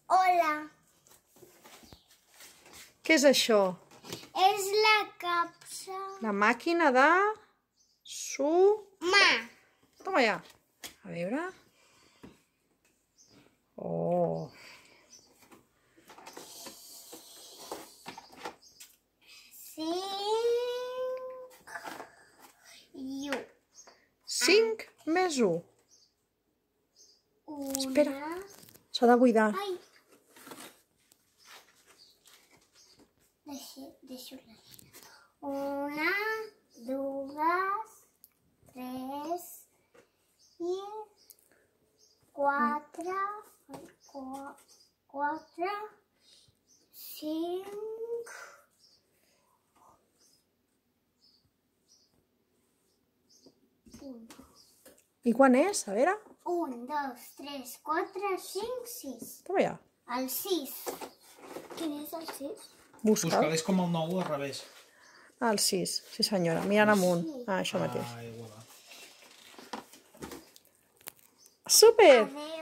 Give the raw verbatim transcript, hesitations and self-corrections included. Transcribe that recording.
Hola. Què és això? És la capsa. La màquina de... Su... Ma. Toma ja. A veure... Oh... Cinc... I u. Cinc més u. Una... Espera. S'ha de buidar. Ai. Deixo, deixo la nina. Una, dues, tres i quatre, qu- quatre, cinc, un. I quan és? A veure. Un, dos, tres, quatre, cinc, sis. Toma ja. El sis. Quin és el sis? Busca'l. Busca-l, és com el nou al revés. El sis. Sí senyora. Mirant amunt. Ah, això mateix. Ah, igual. Super! Adéu.